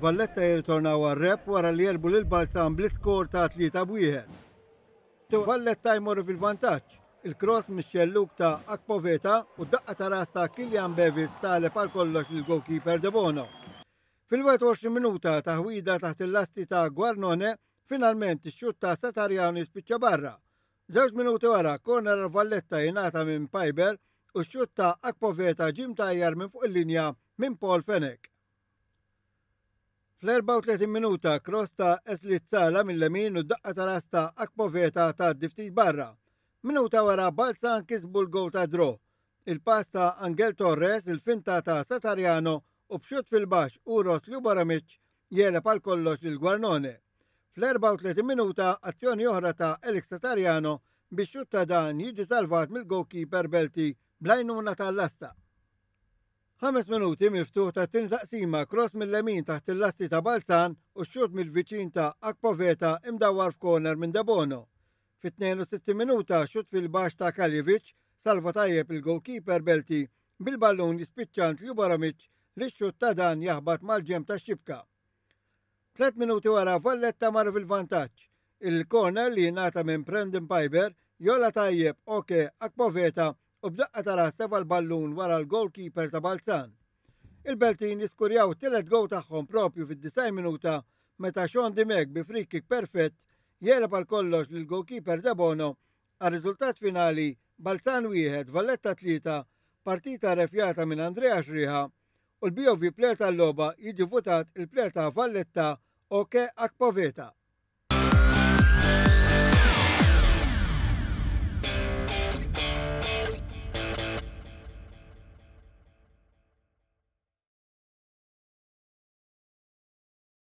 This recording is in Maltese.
Valletta jirritornaw għar-rebħ wara li għelbu lil Balzan bl-iskor ta' 3-1. Valletta jmorru fil-vantaġġ. Il-cross mix-xellug ta' Akpoveta u d-daqqa ta' ras ta' Kylian Bevis tagħleb għal kollox lill-goalkeeper Debono. Fil-21 minuta taħwida taħt il-lasti ta' Guarnone, finalment ix-xutt ta' Satariano jispiċċa barra. Żewġ minuti wara, corner għal Valletta jingħata minn Paiber u x-xutt ta' Akpoveta ġie mtajjar minn fuq il-linja minn Paul Fenech. Fl-34 minuta, cross ta' Esli Tsala mill-lemin u d-daqqa ta' ras ta' Akpoveta tgħaddi ftit barra. Minuta wara Balzan kisbu l-gowl ta' draw. Il-pass ta' Angel Torres, il-finta ta' Satariano u b'xutt fil-baxx Uros Ljuboramic jegħleb għal kollox lil Guarnone. Fl-34 minuta azzjoni oħra ta' Alex Satariano biex xutt ta' dan jiġi salvat mill-goalkeeper Belti bl-għajnuna tal-lasta. Ħames minuti mill-ftuħ tat-tieni taqsima cross mill-lemin taħt il-lasti ta' Balzan u x-xutt mill-viċin ta' Akpoveta imdawwar f'corner minn Debono. Fit-62 minuta xutt fil-baxx ta' Kaljevic salva tajjeb il-goalkeeper Belti bil-ballun jispiċċa għand Ljuboramic li x-xutt ta' dan jaħbat mal-ġenb tax-xibka. Tlet minuti wara Valletta marru fil-vantaġġ. Il-corner li jingħata minn Brandon Piber jola tajjeb Oke Akpoveta u b'daqqa ta' ras tefa' l-ballun wara l-goalkeeper ta' Balzan. Il-Beltin jiskurjaw it-tielet goal tagħhom propju fid-90 minuta meta Sean Dimech bi free kick perfett jegħleb għal kollox lill-goalkeeper Debono għar-riżultat finali Balzan 1, Valletta 3, partita refjata minn Andrea Xriħa u l-BOV Player tal-logħba jiġi votat il-plejer ta' Valletta Oke Akpoveta.